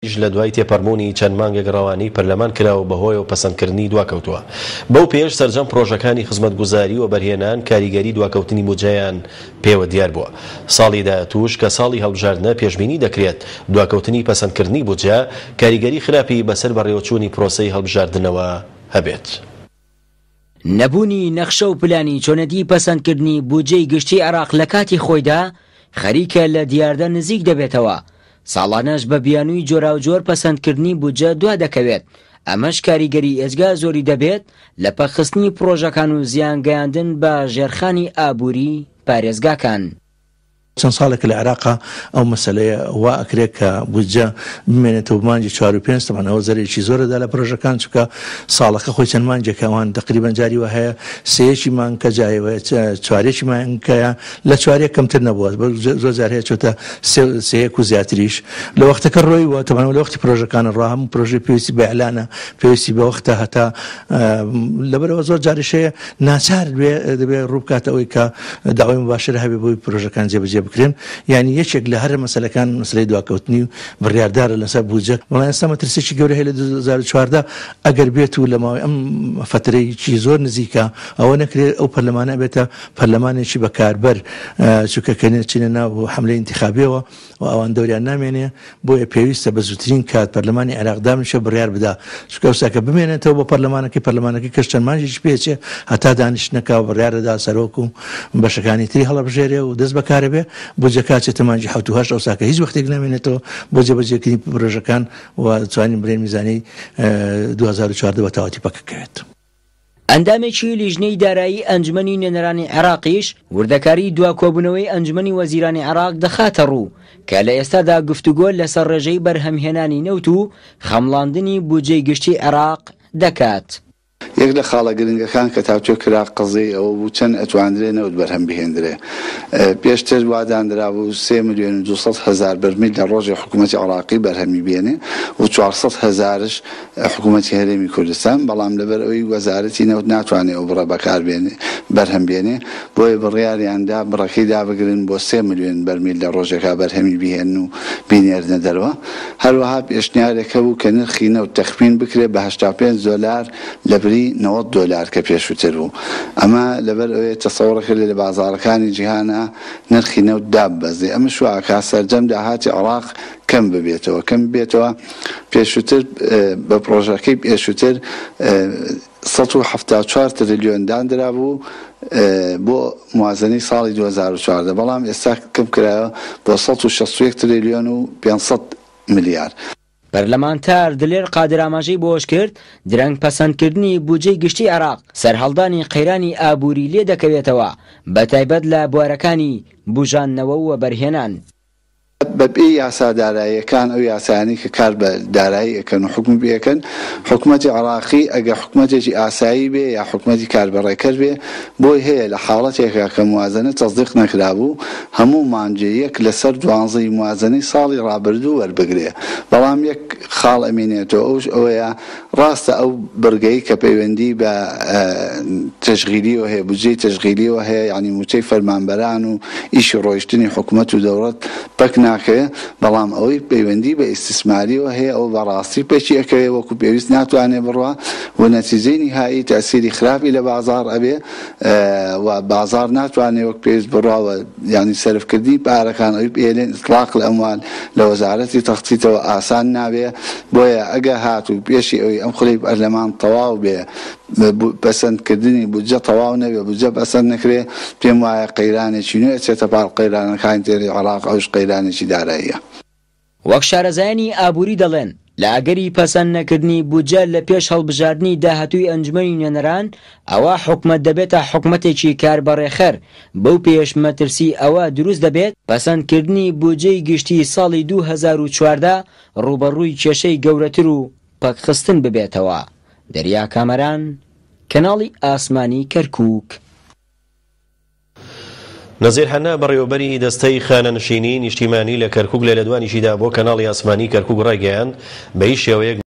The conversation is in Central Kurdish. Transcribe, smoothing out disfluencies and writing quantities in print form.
یش لە دوای تێپەڕبوونی چەند مانگێک ڕەوانەی پەرلەمان کرا و بەهۆیەوە پەسەندکردنی دواکەوتووە. بەو پێیەش سەرجەم پڕۆژەکانی خزمەتگوزاری و وەبەرهێنان کاریگەری دواکەوتنی بودجەیان پێوە دیار بووە. ساڵی داهاتووش کە ساڵی هەڵبژاردنە پێشبینی دەکرێت دواکەوتنی پەسەندکردنی بودجە کاریگەری خراپی بەسەر بەڕێوەچوونی پرۆسەی هەڵبژاردنەوە هەبێت. نەبوونی نەخشە و پلانی چۆنێتی پەسەندکردنی بودجەی گشتی عێراق لە کاتی خۆیدا خەریکە لە دیاردە نزیک دەبێتەوە، ساڵانەش بە بیانووی جۆراوجۆر پەسەندکردنی بودجە دوا دەکەوێت، ئەمەش کاریگەری ئێجگار زۆری دەبێت لە پەکخستنی پڕۆژەکان و زیان گەیاندن بە ژێرخانی ئابووری پارێزگاکان. چەند ساڵێکە لە عێراقا ئەو مەسەلەیە وا ئەکرێت کە بودجە بمێنێتەوە بۆ مانگی چوار و پێنج، تەبعەن ئەوە زەرەرێکی زۆر ئەدا لە پرۆژەکان چونکە ساڵەکە خۆی چەند مانگێکە ئەوان تەقریبەن جاری وا هەیە سێیەکی مانگکە جاری وایە چوارێکی مانگەیە لە چوارێک کەمتر نەبووە زۆر جار هەیە چۆتە سێ سێیەک و زیاتریش لە وەختەکە ڕۆیوە تەبعەن لە وەختی پرۆژەکانە ڕا هەموو پرۆژەی پێویستی بە ئیعلانە پێویستی بە وەختە هەتا لەبەرئەوە زۆر جاریش هەیە ناچار بێ دەبێ ڕوو بکاتە ئەوەی کە داوای موباشرە هەبێ بۆی پرۆژەکان جێبەجێ بکرێن یانی یەکێک لە هەرە مەسەلەکان مەسەلەی دواکەوتنی و بڕیاردارە لەسەر بودجە بەڵام ئێستا مەترسیەکی گەورە هەیە لە 2014 ئەگەر بێت و لە ماوەی ئەم فەترەیەکی زۆر نزیکە ئەوە نەکرێت ئەو پەرلەمانە ئەبێتە پەرلەمانێکی بەکاربەر چونکە کە چینە ناو حەملەی ئینتیخابیەوە و ئەوان دەوریان نامێنێ، بۆیە پێویستە بە زووترین کات پەرلەمانی عێراق دابنیشێ و بڕیار بدا، چونکە ئەوسا کە بمێنێتەوە بۆ پەرلەمانەکەی، پەرلەمانەکەی کەش چەند مانگێکی پێ ئەچێ هەتا دانیشتنەکە و بڕیار ئەدا سەرۆک و بەشەکانی تری هەڵەبژێرێ و دەست بەکارە بێ، بودجەکە ئەچێتە مانگی حەوت و هەشت، ئەوسا کە هیچ وەختێک نامێنێتەوە بۆ جێبەجێکردنی پرۆژەکان و ئەتوانین بڵێین میزانیەی 2014 بە تەواوەتی پەکەکەوێت. ئەندامێکی لیژنەی دارایی ئەنجومەنی نوێنەرانی عێراقیش وردەکاری دوا کۆبوونەوەی ئەنجومەنی وەزیرانی عێراق دەخاتەڕوو کە لە ئێستادا گفتوگۆ لەسەر ڕێژەی بەرهەمهێنانی نەوت و خەمڵاندنی بودجەی گشتی عێراق دەکات. یەک لە خاڵە گرنگەکان کە تاوتوێ کرا قەزیەی ئەوە بوو چەند ئەتواندرێ نەوت بەرهەم بهێندرێ. پێشتر وا داندرابوو سێ ملیۆن و 200 هەزار بەرمیل لە ڕۆژێ حکوومەتی عێراقی بەرهەمی بێنێ و 400 هەزارش حکوومەتی هەرێمی کوردستان، بەڵام لەبەر ئەوەی وەزارەتی نەوت ناتوانێ ئەو بڕە بەکار بێنێ بەرهەم بێنێ، بۆیە بڕیاریان دا بڕەکەی دابگرن بۆ سێ ملیۆن بەرمیل لە ڕۆژێکا بەرهەمی بهێنن و بینێرنە دەرەوە. هەروەها پێشنیارێک هەبوو کە نرخی نەوت تەخمین بکرێ بە 85 دۆلار لەبری 90 دۆلار کە پێشووتر بوو. ئەمە لەبەر ئەوەیە تەسەوڕ کرێ لە بازاڕەکانی جیهانا نرخی نەوت داببەزێ. ئەمەش وا ئەکا سەرجەم داهاتی عێڕاق کەم ببێتەوە. کەم ببێتەوە پێشووتر بە پڕۆژەکەی پێشووتر 174 ترلیۆن داندرابوو بۆ موازنەی ساڵی 2014، بەڵام ئێستا کەمکرایەوە بۆ 161 ترلیۆن و 500 ملیار. پەرلەمانتار دلێر قادر ئاماژەی بەوەشکرد، درەنگ پەسەندکردنی بودجەی گشتی عێراق سەرهەڵدانی قەیرانی ئابووری لێدەکەوێتەوە، بەتایبەت لە بوارەکانی بوژاندنەوە و وەبەرهێنان. بەپێی یاسا داراییەکان، ئەو یاسایانەی کە کار بە دارایی ئەکەن و حوکمی پێ ئەکەن، حکومەتی عێراقی ئەگەر حکومەتێکی ئاسایی بێ یا حکومەتی کاربەڕێکەر بێ، بۆی هەیە لە حاڵەتێکا کە موازەنە تەسدیق نەکرابوو، هەموو مانگێ یەک لەسەر دوانزەی موازەنەی ساڵی ڕابردوو وەربگرێ. بەڵام یەک خاڵ ئەمینێتەوە ئەوش ئەوەیە ڕاستە ئەو بڕگەی کە پەیوەندی بە تەشغیلیەوە هەیە، بودجەی تەشغیلیەوە هەیە، یانی مووچەی فەرمانبەران و ئیشی ڕۆیشتنی حکومەت و دەوڵەت پەک ناکەوێ، بەڵام ئەوەی پەیوەندی بە ئیستیسماریەوە هەیە ئەوە بە ڕاستی پەکی ئەکەوێ، وەکو پێویست ناتوانێ بڕوا و نەتیجەی نیهایی تەئسیری خراپی لە بازاڕ ئەبێ و بازاڕ ناتوانێ وەک پێویست بڕوا و یانی سەرف کردنی پارەکان ئەوی پێلێن اطلاق الاموال لە وەزارەتی تەختیتەوە ئاسان نابێ بۆیە ئەگە هاتوو پێشی ئەوی ئەم خولەی پەرلەمان تەواو بێ پەسەند کردنی بودجە تەواو نەبێ بودجە پەسەند نەکرێ پێم وایە قەیرانێکی نوێ ئەچێتە پاڵ قەیرانەکانی تری عێڕاق ئەوش قەیرانێکی داراییە. وەک شارەزایانی ئابووری دەڵێن، لە ئەگەری پەسەند نەکردنی بودجە لە پێش هەڵبژاردنی داهاتووی ئەنجومەنی نوێنەران، ئەوا حکومەت دەبێتە حکومەتێکی کاربەڕێخەر، بەو پێیەش مەترسی ئەوە دروست دەبێت پەسەندکردنی بودجەی گشتی ساڵی 2014 ڕووبەڕووی کێشەی گەورەتر و پەکخستن ببێتەوە. دەریا کامەران، کەناڵی ئاسمانی کەرکووک. نەزیر حەنا بەڕێوەبەری دەستەی خانەنشینی نیشتیمانی لە کەرکوک لە لێدوانیشیدا بۆ کەناڵی ئاسمانی کەرکوک ڕایگەیاند، بە هیچ شێوەیەک.